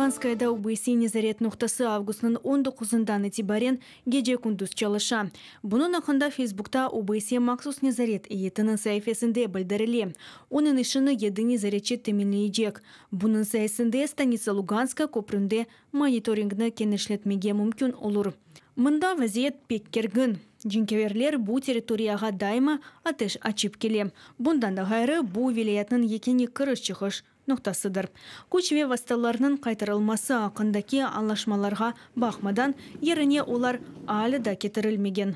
Luganskayada OBSYE nezaret noqtası avgustnıñ on doquzından itibaren gece-kündüz çalışa. Bunıñ aqqında Feysbukta OBSYE Mahsus nezaret eyyetiniñ saifesinde bildirile. Onıñ işini yedi nezaretçi teminleycek. Bunıñ sayesinde Stanitsa Luganskaya köpründe monitoringni kenişletmege mümkün olur. Mında vaziyet pek kergin. Cenkâverler bu territoriyağa daima ateş açıp kele. Bundan da ğayrı, bu vilâyetniñ yekâne kiriş-çıqış noqtasıdır. Küç ve vastalarnıñ qaytarılması aqqındaki añlaşmalarğa baqmadan, yerine olar alâ da ketirilmegen.